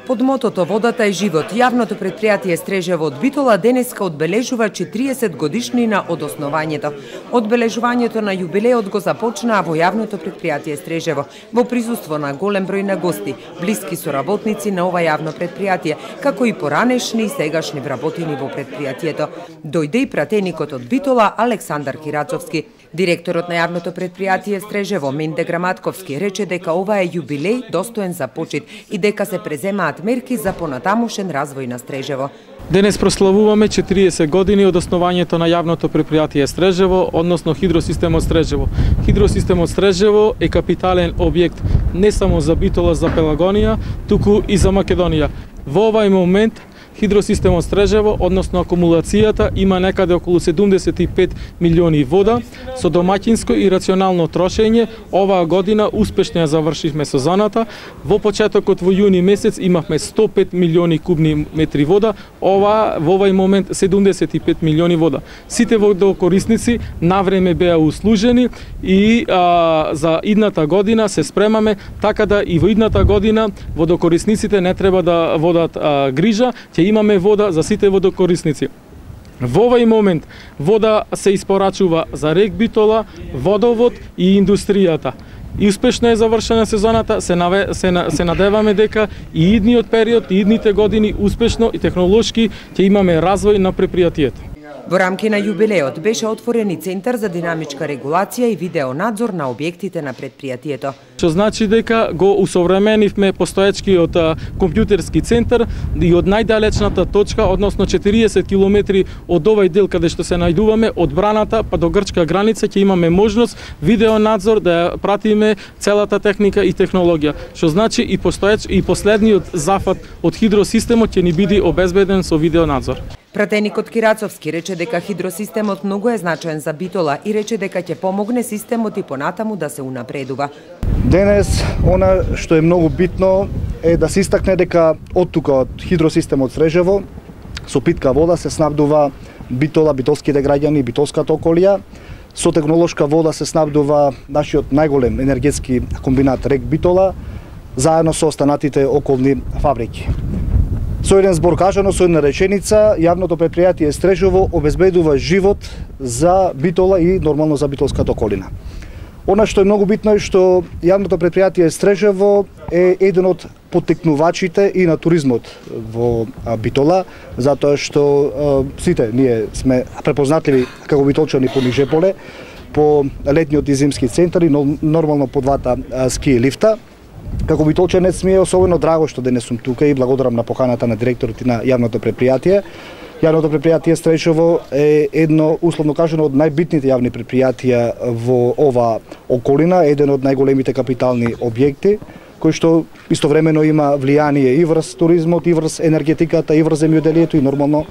Под мотото "Водата е живот", јавното претпријатие Стрежево од Битола денеска одбележува 40 годишнина од основањето. Одбележувањето на јубилеот го започнаа во јавното претпријатие Стрежево во присуство на голем број на гости, блиски соработници на ова јавно претпријатие, како и поранешни и сегашни вработени во претпријатието. Дојде и пратеникот од Битола Александар Кирацовски. Директорот на јавното претпријатие Стрежево Менде Граматковски рече дека ова е јубилеј достоен за почит и дека се преземаат мерки за понатамошен развој на Стрежево. Денес прославуваме 40 години од основањето на јавното претпријатие Стрежево, односно Хидросистемот Стрежево. Хидросистемот Стрежево е капитален објект не само за Битола, за Пелагонија, туку и за Македонија. Во овај момент Хидросистемот Стрежево, односно акумулацијата, има некаде околу 75 милиони вода. Со домаќинско и рационално трошење, оваа година успешно ја завршивме сезоната. Во почетокот во јуни месец имавме 105 милиони кубни метри вода, во овај момент 75 милиони вода. Сите водокорисници навреме беа услужени и за идната година се спремаме така да и во идната година водокорисниците не треба да водат грижа, ќе имаме вода за сите водокорисници. Во овај момент вода се испорачува за РЕК Битола, водовод и индустријата. И успешно е завршена сезоната, се надеваме дека и идниот период, и идните години успешно и технолошки ќе имаме развој на претпријатието. Во рамки на јубилеот беше отворен и центар за динамичка регулација и видеонадзор на објектите на претпријатието. Што значи дека го усовременивме постоечкиот компјутерски центар и од најдалечната точка, односно 40 километри од овај дел каде што се најдуваме, од браната па до грчка граница, ќе имаме можност видеонадзор да ја пратиме целата техника и технологија. Што значи и последниот зафат од хидросистемот ќе ни биде обезбеден со видеонадзор. Пратеникот Кирацовски рече дека хидросистемот многу е значаен за Битола и рече дека ќе помогне системот и понатаму да се унапредува. Денес, она што е многу битно е да се истакне дека од тука, од хидросистемот Стрежево, со питка вода се снабдува Битола, битолските граѓани, битолската околија. Со технолошка вода се снабдува нашиот најголем енергетски комбинат РЕК Битола, заедно со останатите околни фабрики. Со еден збор кажано, со една реченица, јавното претпријатие Стрежево обезбедува живот за Битола и нормално за битолската околина. Она што е многу битно е што јавното претпријатие Стрежево е еден од поттекнувачите и на туризмот во Битола, затоа што сите ние сме препознатливи како битолчани по Нижеполе, по летниот и зимски центари, но нормално по двата ски лифта. Како битолчанец ми е особено драго што денес сум тука и благодарам на поканата на директорот и на јавното претпријатие. Јавното претпријатие Стрежево е едно, условно кажано, од најбитните јавни претпријатија во ова околина, еден од најголемите капитални објекти, кој што истовремено има влијание и врз туризмот, и врз енергетиката, и врз земјоделието и нормално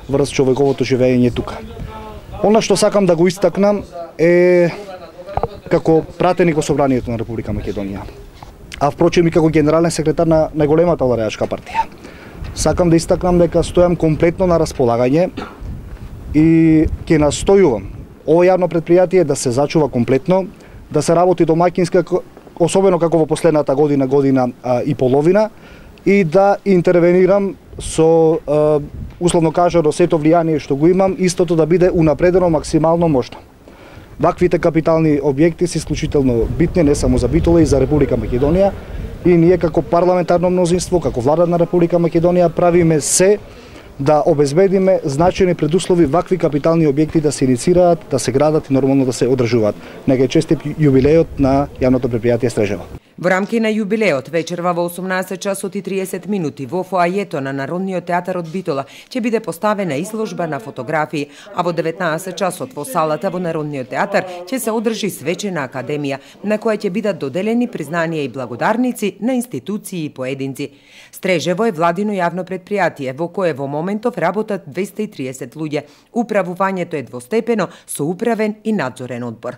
врз човековото живење тука. Она што сакам да го истакнам е како пратеник во Собранието на Република Македонија, а впрочем и како генерален секретар на најголемата владеачка партија. Сакам да истакнам дека стојам комплетно на располагање и ќе настојувам ова јавно претпријатие да се зачува комплетно, да се работи домаќински, особено како во последната година и половина, и да интервенирам со условно кажано сето влијание што го имам, истото да биде унапредено максимално можно. Ваквите капитални објекти се исклучително битни не само за Битола и за Република Македонија, и ние како парламентарно мнозинство, како влада на Република Македонија правиме се да обезбедиме значајни предуслови вакви капитални објекти да се иницираат, да се градат и нормално да се одржуваат. Нека е честит јубилеот на јавното претпријатие Стрежево. Во рамки на јубилеот вечерва во 18 часот и 30 минути во фоајето на Народниот театар од Битола ќе биде поставена изложба на фотографии, а во 19 часот во салата во Народниот театар ќе се одржи свечена академија на која ќе бидат доделени признанија и благодарници на институции и поединци. Стрежево е владино јавно претпријатие во кое во моментов работат 230 луѓе. Управувањето е двостепено со управен и надзорен одбор.